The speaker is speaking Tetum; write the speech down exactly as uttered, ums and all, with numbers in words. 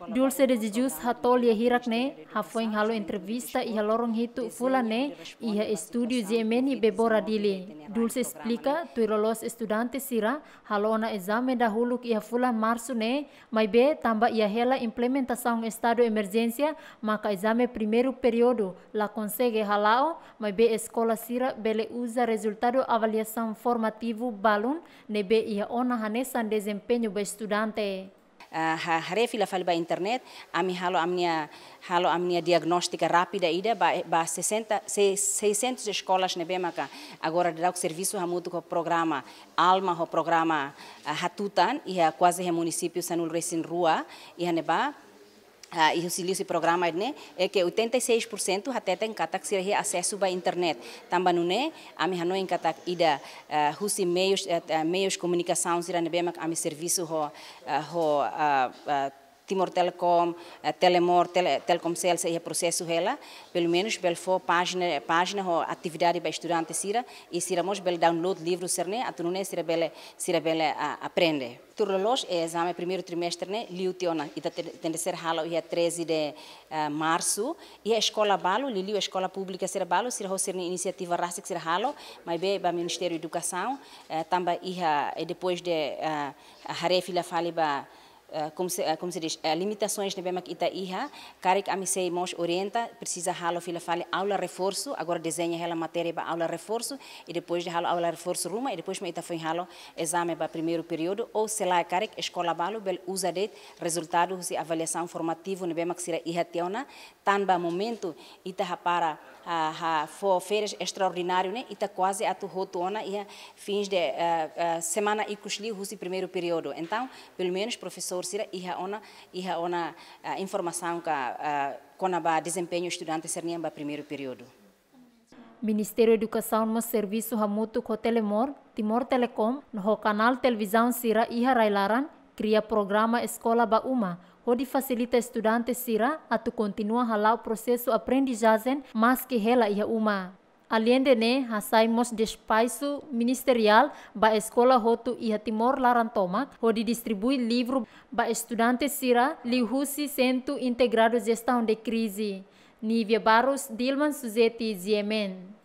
Dulce de Jesus hato'o lia hirak ne'e hafoin halo entrevista iha loron hitu fulan ne'e iha estúdiu G M N Bebora Dili. Dulce esplika, tuir loloos estudante sira halo ona ezame dahuluk iha fulan Marsu ne'e, maibé tanba iha hela implementasaun estadu emerjénsia, maka ezame primeiru períodu la konsege hala'o, maibé eskola sira bele uza rezultadu avaliasaun formativu balun ne'ebé iha ona hanesan dezempeñu ba estudante. Ah, ha-, haree fila fali ba internet, ami halo ami-nia, halo ami-nia diagnóstika rápida ida ba, ba sessenta, se-, seiscentos eskolas ne'ebé maka agora daudaun servisu hamutuk ho programa Alma ho programa, ah, Hatutan, iha kuaze iha munisípiu sanulu-resin-rua, iha ne'ebá, ah, iha husi liuhusi programa ne'e, é ke oitenta e seis por cento hateten katak sira iha asesu ba internet. Tanba nune'e, ami hanoin katak ida, ah, husi meius, eh, eh, meius komunikasaun sira ne'ebé mak ami servisu ho, ah, ho, ah, ah, Timor Telecom, eh, Telemor, Tele-, Telkomcel sei iha prosesu hela, pelumenus bele fó pájina, pájina ho atividade ba estudante sira, i sira mós bele download livru sira-ne'e, atu nune'e sira bele, sira bele, ah, aprende. Tuir loloos, eh, ezame primeiru trimestre ne'e liu tiha ona, ita te-, tenke ser halo iha treze de, eh, Marsu, iha eskola balu, liuliu eskola públika sira balu, sira ho sira-nia inisiativa rasik sira halo, maibé ba Ministériu Edukasaun, eh, tanba iha, eh, depois de, eh, haree fila fali ba, eh, como se, eh, como se diz, eh, limitasoens ne'ebé mak ita iha, karik ami sei mós orienta, presiza halo fila fali aula reforsu, agora dezeña hela matéria ba aula reforsu, i depois de halo aula reforsu ruma, i depois mak ita foin halo ezame ba primeiru períodu, ou selae karik eskola balu bele uza de'it rezultadu husi avaliasaun formativu ne'ebé mak sira iha tiha ona, tanba momentu ita hapara, ah, ha fó férias estraordináriu ne'e, ita kuaze atu hotu ona iha fins de, eh, eh, semana ikus liu husi primeiru períodu. Entaun, pelumenus profesór sira iha ona, iha ona, ah, informasaun ka, ah, kona-ba dezempeñu estudante sira-nian ba primeiru períodu. Ministériu Edukasaun mós servisu hamutuk ho Telemor, Timor Telecom, no ho kanál televizaun sira iha rai-laran, kria programa Eskola ba Uma, hodi fasilita estudante sira atu kontinua hala'o prosesu aprendizajen maski hela iha uma. Aleinde ne'e, hasai mós despaxu ministeriál ba eskola hotu iha Timor laran tomak, hodi distribui livru ba estudante sira liuhusi Sentru Integradu Jestaun de Krize. Nívia Barros, Dilman Suzeti, G M N.